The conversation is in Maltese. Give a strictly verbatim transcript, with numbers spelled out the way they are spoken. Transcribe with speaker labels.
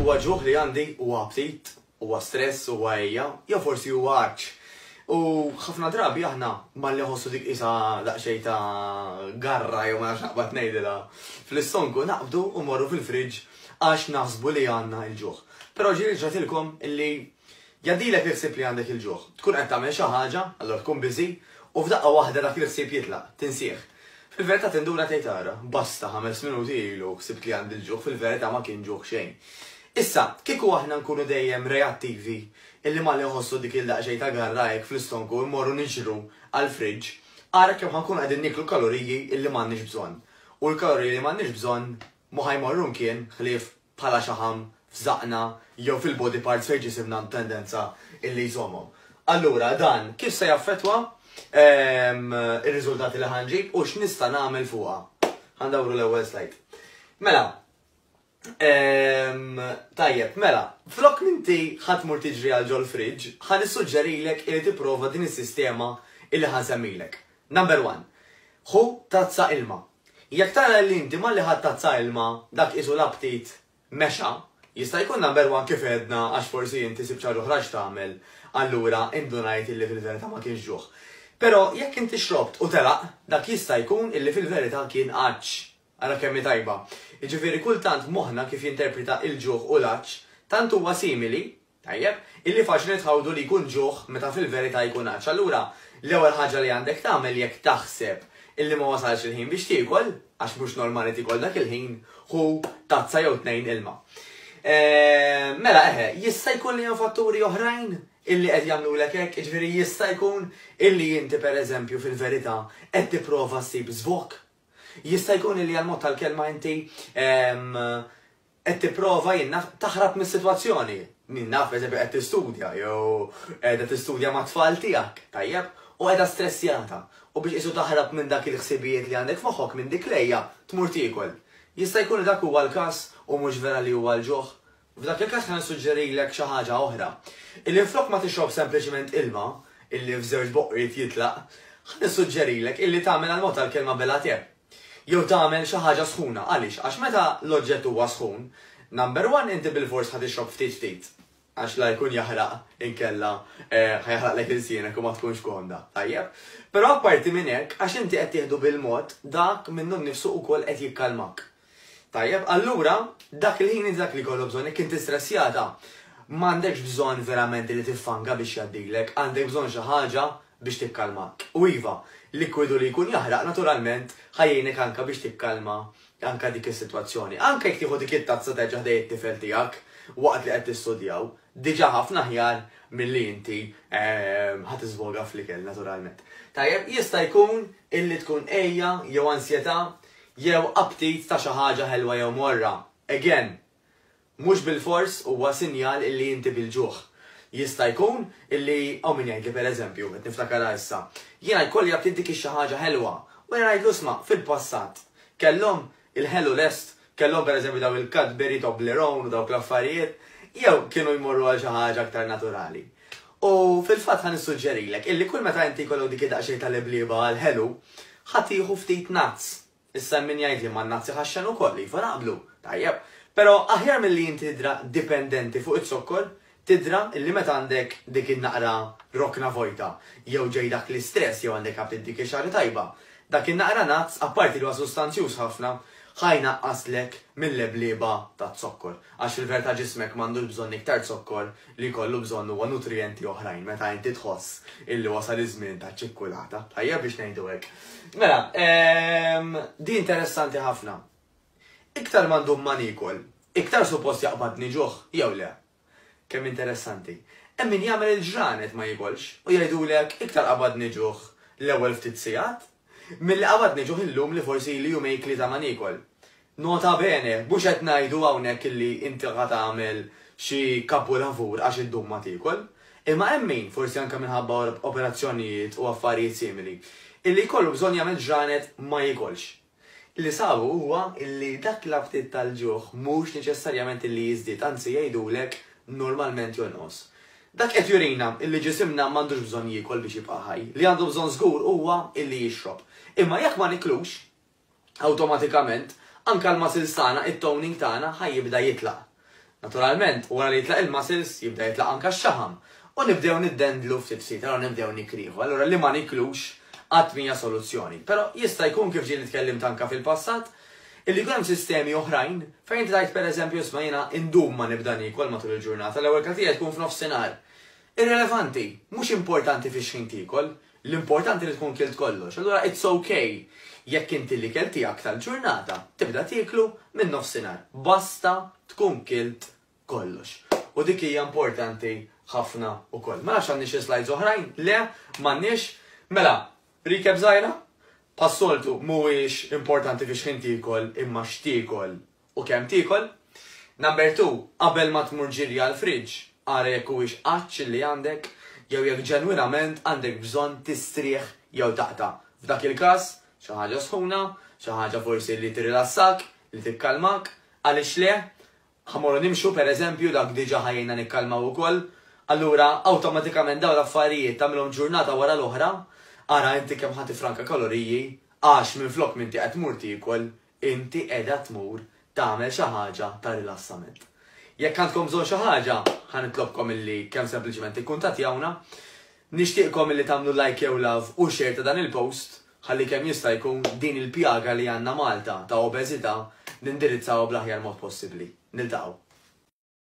Speaker 1: Huwa ġuħ li għandi, huwa aptit, huwa stress, huwa għeja, jew forsi huwa għatx. U ħafna drabi aħna malli nħossu dik isa daqsxejn ta' garra, jew ma nafx naqbad ngħidilha, fl-istonku, naqbdu u morru fil-friġġ għax naħsbu li għandna il-ġuħ. Però ġieli ġratilkom illi jgħaddilek il-ħsieb li għandek il-ġuħ? Tkun qed tagħmel xi ħaġa, allura tkun busy, u f'daqqa waħda dak il-ħsieb jitlaq, tinsih. Fil-verità tinduna, tgħid, "Ara, basta, ħames minuti ilu ħsibt li għandi l-ġuħ, fil-verità ma kien ġuħ xejn." Issa, kieku aħna nkunu dejjem reattivi illi malli nħossu dik il-daqxejn ta' garra hekk fl-istonku immorru niġru għal-friġġ, ara kemm ħa nkunu qegħdin niklu kaloriji illi m'għandniex bżonn. U l-kaloriji li m'għandniex bżonn mhu ħa jmorru mkien ħlief bħala xaħam f'żaqna jew fil-body parts fejn ġisimna tendenza illi jżommhom. Allura dan kif se jaffetwa ehm, ir-riżultati li ħa nġib u x'nista' nagħmel fuqha? Ħa ndawru l-ewwel slide. Mela, ehm, tajjeb, mela, flok minti ħa tmur tiġri għal ġol fridge, ħa nissuġġerilek li tipprova din is-sistema illi ħa nsemmilek. Number one, ħu tazza ilma. Jekk tara li inti malli ħadt tazza ilma, dak isu l-aptit mexa, jista' jkun, number one, kif għedna, għax forsi inti sibt xi ħaġa x'tagħmel, allura indunajt illi fil-verità ma kienx ġuħ. Però jekk inti xrobt u telaq, dak jista' jkun illi fil-verità kien għatx. Ara kemm tajba. Jiġifieri kultant moħħna kif jinterpreta il-ġuħ u l-għatx tant huwa simili, tajjeb, illi faċli tħawdu li jkun ġuħ meta fil-verità jkun għatx. Allura, l-ewwel ħaġa li għandek tagħmel jekk taħseb illi ma wasalx il-ħin biex tiekol, għax mhux normali tiekol dak il-ħin, ħu tazza jew tnejn ilma. Eh, mela eħe, jista' jkun li hemm fatturi oħrajn illi qed jagħmlulek hekk, jiġifieri jista' jkun illi inti, pereżempju, fil-verità qed tipprova ssib żvok. Jista' jkun illi għal mod tal-kelma inti qed tipprova, jien naf, taħrab mis-sitwazzjoni. Jien naf, eżempju, qed tistudja jew qiegħda tistudja mat-tfal tiegħek, tajjeb, u qiegħda stressjata. U biex isu taħrab minn dak il-ħsibijiet li għandek f'moħħok, minn dik l-għeja, tmur tiekol. Jista' jkun li dak huwa l-każ u mhux vera li huwa l-ġuħ. F'dak il-każ ħa nissuġġerilek xi ħaġa oħra. Illi flok ma tixrob sempliċement ilma, illi f'żewġ boqriet jitlaq, ħa nissuġġerilek illi tagħmel, għal mod tal-kelma, belgħa te. Jew tagħmel xi ħaġa sħuna. Għaliex? Għax meta l-oġġett huwa sħun, number one, inti bil-fors ħa tixrob ftit ftit. Għax la jkun jaħraq, inkella eh, ħa jaħraqlek ilsienek u ma tkunx komda. Tajjeb. Però apparti minn hekk, għax inti qed tieħdu bil-mod, dak minnu nnifsu ukoll qed jikkalmak. Tajjeb, allura dak il-ħin dak li kollu bżonn, jekk inti stressjata, m'għandekx bżonn verament li tiffanga biex jgħaddilek, għandek bżonn xi ħaġa biex tikkalmak. U iva, likwidu li jkun jaħraq naturalment ħa jgħinek anka biex tikkalma anka dik is-sitwazzjoni. Anka jekk tieħu dik it-tazza terġa' ħdejn it-tifel tiegħek waqt li qed tistudjaw, diġà ħafna aħjar milli inti ehm, ħa tiżvoga fl-ikel naturalment. Tajjeb, jista' jkun illi tkun għeja jew ansjetà jew aptit ta' xi ħaġa ħelwa jew morra. Again, mhux bil-fors huwa sinjal illi inti bil-ġuħ. Jista' jkun illi hawn min jgħidli, pereżempju, qed niftakarha issa, "Jiena jkolli aptit dik xi ħaġa ħelwa." U jiena ngħidlu, "Isma', fil-passat kellhom il-ħelu lest, kellhom pereżempju daw il-Cadbury, Toblerone u dawk l-affarijiet, jew kienu jmorru għal xi ħaġa aktar naturali?" U fil-fatt ħa nissuġġerilek illi kull meta inti jkollok dik id-daqsxejn tal-iblieba għal-ħelu, ħa tieħu ftit nuts. Issa min jgħid li ma n-nuts iħaxxen ukoll, iva, naqblu, tajjeb. Però aħjar milli inti tidra dipendenti fuq it-zokkor, tidra illi meta għandek dik in-naqra rokna vojta, jew ġej dak l-istress, jew għandek aptit dik ix tajba. Dak in-naqra nuts, apparti li huwa sustanzjuż ħafna, ħa jnaqqaslek mill-leblieba ta' zokkor. Għax fil-verità ġismek m'għandux bżonn iktar zokkor, li kollu bżonn huwa nutrienti oħrajn meta inti tħoss illi wasal iż-żmien ta' ċikkulata. Tajjeb, biex ngħidu hekk. Mela, ehm, di interessanti ħafna. Iktar ma ndum ma nikol, iktar suppost jaqbadni ġuħ, jew le? Kemm interessanti. Hemm min jagħmel il-ġranet ma jikolx u jgħidulek, "Iktar qabadni ġuħ l-ewwel ftit sigħat milli qabadni ġuħ illum li forsi li jumejn, tlieta ma nikol." Nota bene, mhux qed ngħidu hawnhekk illi inti ħa tagħmel xi kapulavur għax iddum ma tiekol. Imma hemm min, forsi anke minħabba operazzjonijiet u affarijiet simili, illi jkollu bżonn jagħmel ġranet ma jikolx. Li sabu huwa illi dak l-aptit tal-ġuħ mhux neċessarjament illi jiżdied, anzi jgħidulek normalment jonqos. Dak qed jurina illi ġisimna m'għandux bżonn jiekol biex jibqa' ħaj. Li għandu bżonn żgur huwa illi jixrob. Imma jekk ma niklux, awtomatikament anka l-muscles tagħna, it-toning tagħna ħa jibda jitlaq. Naturalment, wara li jitlaq il-muscles, jibda jitlaq anka x-xaħam. U nibdew niddendlu ftit ftit, allura nibdew nikriħu. Allura li ma niklux qatt mhija soluzzjoni. Però jista' jkun, kif ġieli tkellimt anka fil-passat, illi jkun hemm sistemi oħrajn fejn tgħid, pereżempju, isma', jiena indum ma nibda niekol matul il-ġurnata, l-ewwel ikel tkun f'nofsinhar. Irrelevanti, mhux importanti fi x'ħin tiekol, l-importanti li tkun kilt kollox. Allura it's okay jekk inti l-ikel tiegħek tal-ġurnata tibda tieklu minn nofsinhar. Basta tkun kilt kollox. U dik hija importanti ħafna ukoll. Ma nafx għandni xi slides oħrajn? Le, m'għandniex. Mela, recap żgħira? Bħas-soltu, mhuwiex importanti fi x'ħin tiekol imma x'tiekol u kemm tiekol. Number two, qabel ma tmur ġirja għal-fridge, ara jekk huwiex għatx li għandek jew jekk ġenwinament għandek bżonn tistrieħ jew taqta'. F'dak il-każ, xi ħaġa sħuna, xi ħaġa forsi li tirrilassak, li tikkalmak, għaliex le, ħa mmorru nimxu, per eżempju, dak diġà ħa jgħinna nikkalmaw ukoll. Allura, awtomatikament dawn l-affarijiet tagħmilhom ġurnata wara l-oħra, ara inti kemm ħa tifranka kaloriji, għax minn flok m'inti qed tmur tiekol, inti qiegħda tmur tagħmel xi ħaġa ta' rilassament. Jekk għandkom bżonn xi ħaġa, ħa nitlobkom illi kemm sempliċement ikkuntattjawna. Nixtieqkom illi tagħmlu like jew love u share ta' dan il-post ħalli kemm jista' jkun din il-pjaga li għandna Malta ta' obeżità nindirizzaw bl-aħjar mod possibbli. Niltaqgħu.